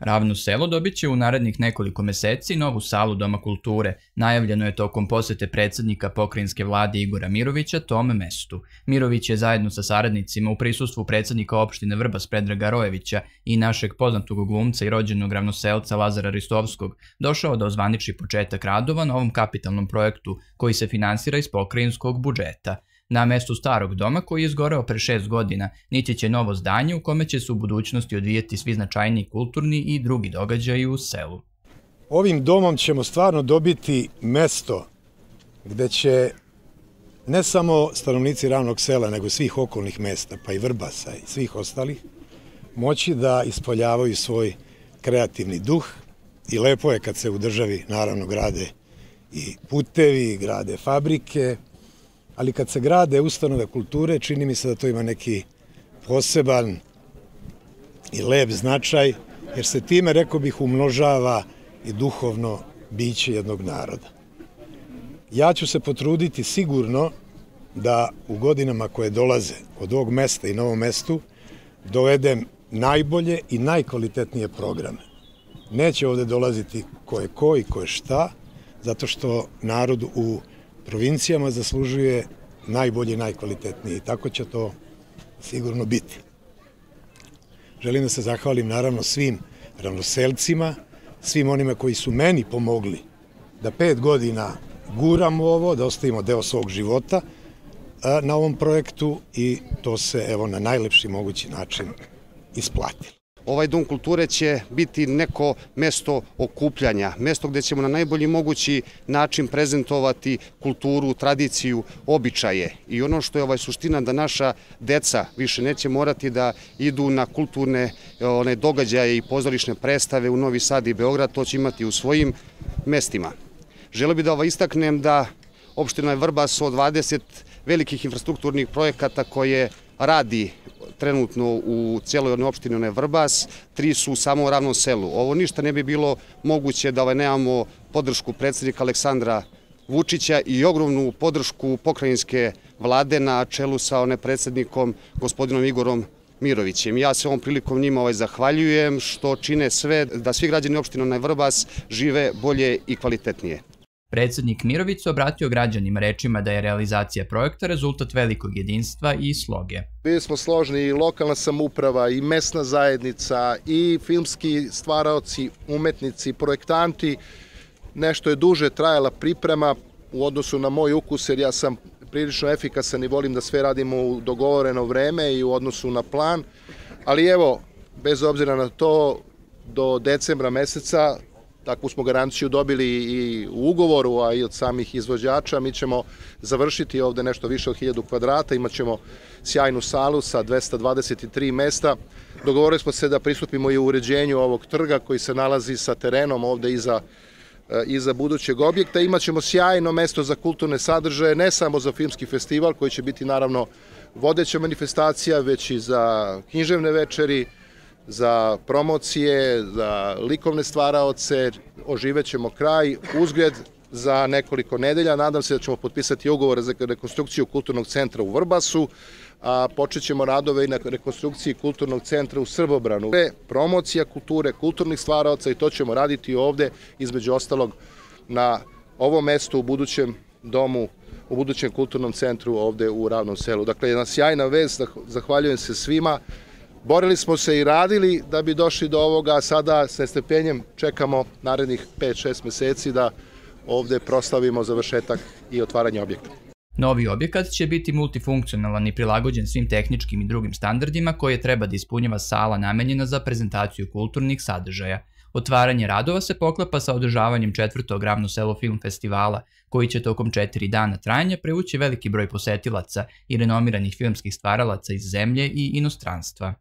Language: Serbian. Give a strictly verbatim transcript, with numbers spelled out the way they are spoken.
Ravno selo dobit će u narednih nekoliko meseci novu salu Doma kulture. Najavljeno je tokom posete predsjednika pokrajinske vlade Igora Mirovića tom mestu. Mirović je zajedno sa saradnicima u prisustvu predsjednika opštine Vrbas Predraga Rojevića i našeg poznatog glumca i rođenog ravnoselca Lazara Ristovskog došao da ozvaniči početak radova na ovom kapitalnom projektu koji se finansira iz pokrajinskog budžeta. Na mestu starog doma, koji je izgoreo pre šest godina, nići će novo zdanje u kome će se u budućnosti odvijeti svi značajniji kulturni i drugi događaji u selu. Ovim domom ćemo stvarno dobiti mesto gde će ne samo stanovnici Ravnog sela, nego svih okolnih mesta, pa i Vrbasa i svih ostalih, moći da ispoljavaju svoj kreativni duh. I lepo je kad se u državi naravno grade i putevi, grade fabrike, ali kad se grade ustanove kulture, čini mi se da to ima neki poseban i lep značaj, jer se time, rekao bih, umnožava i duhovno biće jednog naroda. Ja ću se potruditi sigurno da u godinama koje dolaze od ovog mesta i na ovom mestu dovedem najbolje i najkvalitetnije programe. Neće ovde dolaziti ko je ko i ko je šta, zato što narod u provincijama zaslužuje najbolje i najkvalitetnije i tako će to sigurno biti. Želim da se zahvalim naravno svim ravnoselcima, svim onima koji su meni pomogli da pet godina guramo ovo, da ostavimo deo svog života na ovom projektu i to se evo na najlepši mogući način isplatilo. Ovaj dom kulture će biti neko mesto okupljanja, mesto gde ćemo na najbolji mogući način prezentovati kulturu, tradiciju, običaje. I ono što je ovaj suština da naša deca više neće morati da idu na kulturne one, događaje i pozorišne predstave u Novi Sad i Beograd, to će imati u svojim mestima. Želeo bih da ovaj istaknem da opština Vrbas od dvadeset velikih infrastrukturnih projekata koje radi trenutno u cijeloj opštini Vrbas, tri su samo u Ravnom selu. Ovo ništa ne bi bilo moguće da nemamo podršku predsjednika Aleksandra Vučića i ogromnu podršku pokrajinske vlade na čelu sa predsjednikom gospodinom Igorom Mirovićem. Ja se ovom prilikom njima ovaj zahvaljujem što čine sve da svi građani opštine Vrbas žive bolje i kvalitetnije. Predsjednik Mirović se obratio građanima rečima da je realizacija projekta rezultat velikog jedinstva i sloge. Bili smo složni i lokalna samouprava i mesna zajednica i filmski stvaraoci, umetnici, projektanti. Nešto je duže trajala priprema u odnosu na moj ukus jer ja sam prilično efikasan i volim da sve radimo u dogovoreno vreme i u odnosu na plan. Ali evo, bez obzira na to, do decembra meseca takvu smo garanciju dobili i u ugovoru, a i od samih izvođača. Mi ćemo završiti ovde nešto više od hiljadu kvadrata, imat ćemo sjajnu salu sa dvesta dvadeset tri mesta. Dogovorili smo se da pristupimo i u uređenju ovog trga koji se nalazi sa terenom ovde iza, iza budućeg objekta. Imat ćemo sjajno mesto za kulturne sadržaje, ne samo za filmski festival koji će biti naravno vodeća manifestacija, već i za književne večeri, za promocije, za likovne stvaraoce. Oživećemo kraj, uzgred za nekoliko nedelja. Nadam se da ćemo potpisati ugovore za rekonstrukciju kulturnog centra u Vrbasu, a počet ćemo radove i na rekonstrukciji kulturnog centra u Srbobranu. Promocija kulture, kulturnih stvaraoca i to ćemo raditi ovde, između ostalog na ovom mestu u budućem domu, u budućem kulturnom centru ovde u Ravnom selu. Dakle, jedna sjajna vest, zahvaljujem se svima. Borili smo se i radili da bi došli do ovoga, a sada sa nestrpljenjem čekamo narednih pet šest meseci da ovde proslavimo završetak i otvaranje objekta. Novi objekat će biti multifunkcionalan i prilagođen svim tehničkim i drugim standardima koje treba da ispunjava sala namenjena za prezentaciju kulturnih sadržaja. Otvaranje radova se poklapa sa održavanjem četvrtog Ravno selo film festivala, koji će tokom četiri dana trajanja privući veliki broj posetilaca i renomiranih filmskih stvaralaca iz zemlje i inostranstva.